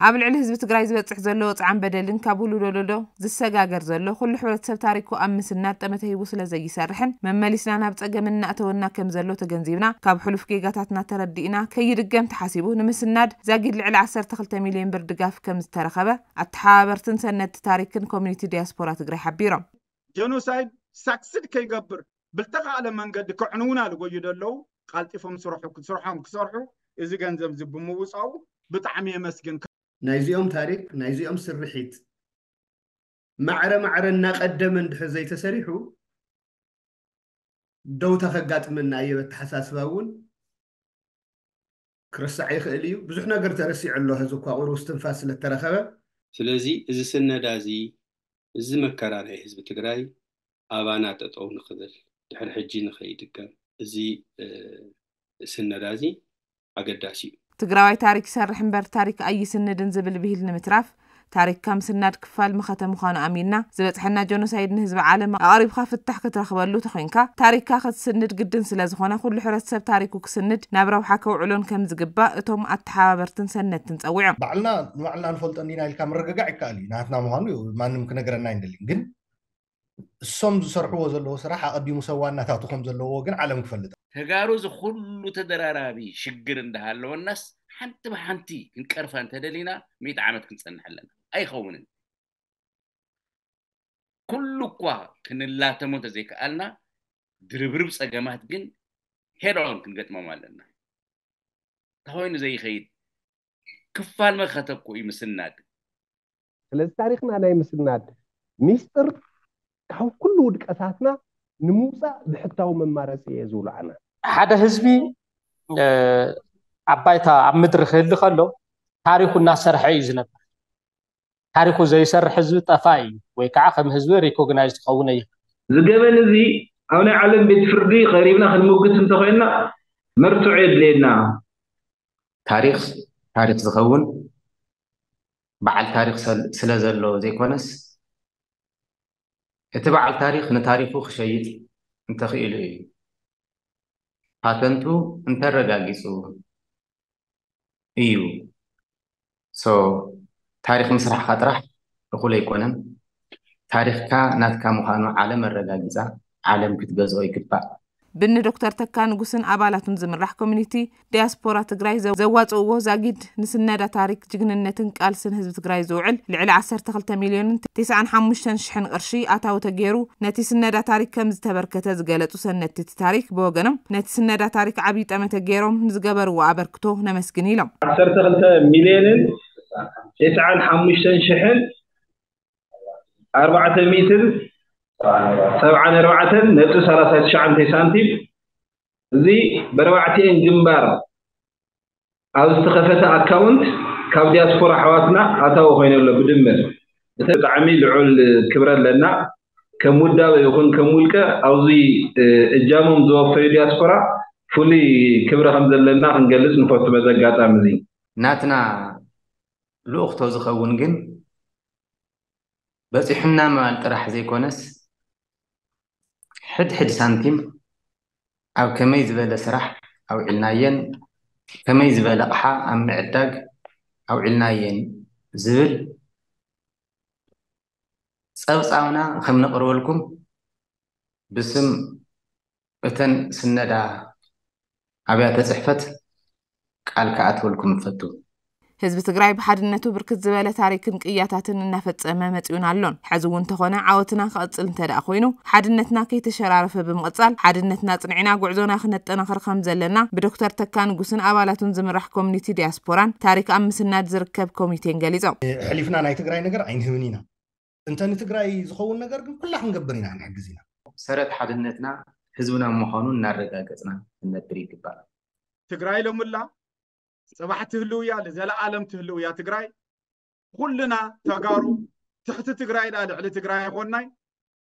ኣብ ልዕሊ ህዝቢ ትግራይ ዝበፅሕ ዘሎ ወፅዓን በደልን ካብ ውሉድ ወለዶ ዝሰጋገር ዘሎ ኩሉ ሕብረተሰብ ታሪኩ ኣብ ምስናድ ጠመተ ሂቡ ስለ ዘይሰርሕን መመሊስና ናብ ፀገም እናእተወና ከም ዘሎ ተገንዚብና ካብ ሕሉፍ ጌጋታትና ተረዲእና ከይድገም ተሓሲቡ ንምስናድ ዛጊድ ልዕሊ ዓሰርተ ክልተ ሚሊዮን ብር ድጋፍ ከም ዝተረኸበ ኣተሓባበርትን ሰነድቲ ታሪክን ኮሚኒቲ ዲያስፖራ ትግራይ ሓቢሮም። ጀኖሳይድ ሳክስድ ከይገብር ብልተኻእለ መንገዲ ከዕንውና ልጎዩ ደለዉ ቃልጢፎም ስርሑ ስርሖም ክሰርሑ እዚ ገንዘብ እዚ ብምውፃኡ ብጣዕሚ የመስግን። ናይዚኦም ታሪክ ናይዚኦም ስርሒት ማዕረ ማዕረ እናቀደመ እንድሕር ዘይተሰሪሑ ደውታ ከጋጥመና ኣየበ ኣተሓሳስባ እውን ክረሳዕ ይኽእል እዩ። ብዙሕ ነገር ተረሲዑ ኣሎ። ሕዚ እኳ ቁሩብ እስትንፋስ ስለተረኸበ ስለዚ እዚ ስነዳ እዚ እዚ መከራ ናይ ህዝቢ ትግራይ ኣባና ጠጠው ንኽብል ድሕሪ ሕጂ ንኸይድገም እዚ ስነዳ እዚ ኣገዳሲ እዩ። ትግራዋይ ታሪክ ይሰርሕ እምበር ታሪክ ኣይስንድን ዝብል ብሂል ንምትራፍ ታሪክካ ምስናድ ክፋል መኸተ ምዃኑ ኣሚንና ዝበፅሐና ጀኖሳይድ ንህዝቢ ዓለም ኣቕሪብካ ፍታሕ ክትረኽበሉ ተኾይንካ ታሪክካ ክትስንድ ግድን ስለዝኾነ ኩሉ ሕብረተሰብ ታሪኩ ክስንድ ናብ ረብሓ ከውዕሎን ከም ዝግባእ እቶም ኣተሓባበርትን ሰነድትን ፀዊዖም። ባዕልና ንባዕልና ንፈልጦ እንዲና ኢልካ ምርግጋዕ ይከኣል እዩ። ናትና ምዃኑ ማንም ክነግረና ኣይንደልን። ግን እሶም ዝሰርሕዎ ዘለዎ ስራሕ ኣቐዲሙ ሰብ ዋናታቱ ከም ዘለዎ ግን ዓለም ክፈልጥ። ተጋሩ እዚ ኩሉ ተደራራቢ ሽግር እንዳሃለወናስ ሓንቲ ብሓንቲ ክንቀርፋ እንተደሊና ሚእቲ ዓመት ክንፀንሕ ኣለና። ኣይኸውንን። ኩሉ እኳ ክንላተሞ እንተዘይከኣልና ድርብርብ ፀገማት ግን ሄድ ኦን ክንገጥሞም ኣለና። ተኾይኑ ዘይኸይድ ክፋል መኸተ እኮ እዩ ምስናድ። ስለዚ ታሪክና ናይ ምስናድ ሚስጥር ካብ ኩሉ ውድቀታትና ንምውፃእ ብሕታዊ መማረፂ እየ ዝብሉ ኣነ። ሓደ ህዝቢ ኣብ ባይታ ኣብ ምድሪ ክህሊ ከሎ ታሪኩ እናሰርሐ እዩ ዝነብር። ታሪኩ ዘይሰርሕ ህዝቢ ጠፋ እዩ ወይ ከዓ ከም ህዝቢ ሪኮግናይዝ ክኸውን እዩ። እዚ ገበን እዚ ኣብ ናይ ዓለም ቤት ፍርዲ ቀሪብና ክንምጉት እንተኮይንና መርትዖ የድልየና። ታሪክ ታሪክ ዝኸውን በዓል ታሪክ ስለ ዘሎ ዘይኮነስ እቲ በዓል ታሪክ ንታሪኩ ክሸይጥ እንተኽኢሉ እዩ። ፓተንቱ እንተረጋጊፁ እዩ። So ታሪክ ምስራሕካ ጥራሕ እኹል ኣይኮነን። ታሪክካ ናትካ ምዃኑ ዓለም ኣረጋጊፃ ዓለም ክትገዝኦ ይግባእ። ብኒ ዶክተር ተካ ንጉስን ኣባላቱን ዝምራሕ ኮሚኒቲ ዲያስፖራ ትግራይ ዘዋፅእዎ ዛጊድ ንስነዳ ታሪክ ጅግንነትን ቃልስን ህዝቢ ትግራይ ዝውዕል ልዕሊ ዓሰርተ ክልተ ሚልዮንን ተስዓን ሓሙሽተን ሽሕን ቅርሺ ኣታዊ ተገይሩ ነቲ ስነዳ ታሪክ ከም ዝተበርከተ ዝገለፁ ሰነድቲ እቲ ታሪክ ብወገኖም ነቲ ስነዳ ታሪክ ዓብዪ ጠመተ ገይሮም ንዝገበርዎ ኣበርክቶ ነመስግን ኢሎም። ዓሰርተ ክልተ ሚልዮንን ተስዓን ሓሙሽተን ሽሕን ኣርባዕተ ሚእትን ሰብዓን ኣርባዕተን ነጥቢ ሰላሳ ትሽዓተ ሳንቲም እዚ በርባዕቲኤን ግንባር ኣብ ዝተኸፈተ ኣካውንት ካብ ዲያስፖራ ኣሕዋትና ኣታዊ ኮይኑ ኣሎ ብድምር። እቲ ብጣዕሚ ልዑል ክብሪ ኣለና። ከም ውዳበ ይኹን ከም ውልቀ ኣብዚ እጃሞም ዝወፈዩ ዲያስፖራ ፍሉይ ክብሪ ከም ዘለና ክንገልፅ ንፈቱ በዚ ኣጋጣሚ እዚ። ናትና ልኡኽቶ ዝኸውን ግን በፂሑና ምባል ጥራሕ ዘይኮነስ ሕድ ሕድ ሳንቲም ኣብ ከመይ ዝበለ ስራሕ ኣውዒልናየን ከመይ ዝበለ ኣቕሓ ኣብ ምዕዳግ ኣውዒልናየን ዝብል ፀብፃብና ከም ነቕርበልኩም ብስም እተን ስነዳ ኣብያተ ፅሕፈት ቃል ክኣትወልኩም እፈቱ። ህዝቢ ትግራይ ብሓድነቱ ብርክት ዝበለ ታሪክን ቅያታትን እናፈፀመ መፂኡን ኣሎን። ሕዚ እውን እንተኾነ ዓወትና ክቕፅል እንተደኣ ኮይኑ ሓድነትና ከይተሸራረፈ ብምቕፃል ሓድነትና ፅንዒና ጉዕዞና ክነጠናኽር ከም ዘለና ብዶክተር ተካ ንጉስን ኣባላቱን ዝምራሕ ኮሚኒቲ ዲያስፖራን ታሪክ ኣብ ምስናድ ዝርከብ ኮሚቴን ገሊፆም። ሕሊፍና ናይ ትግራይ ነገር ኣይንህብን ኢና። እንተ ንትግራይ ዝኸውን ነገር ግን ኩላ ክንገብር ኢና ክንሕግዝ ኢና። ሰረት ሓድነትና ህዝብና ምዃኑ እናረጋገፅና ክንነብር ይግባእ። ትግራይ ሎምላ ፅባሕ ትህልው እያ፣ ዘለኣለም ትህልው እያ ትግራይ። ኩልና ተጋሩ ትሕቲ ትግራይ ዳ ልዕሊ ትግራይ ኣይኮንናይ።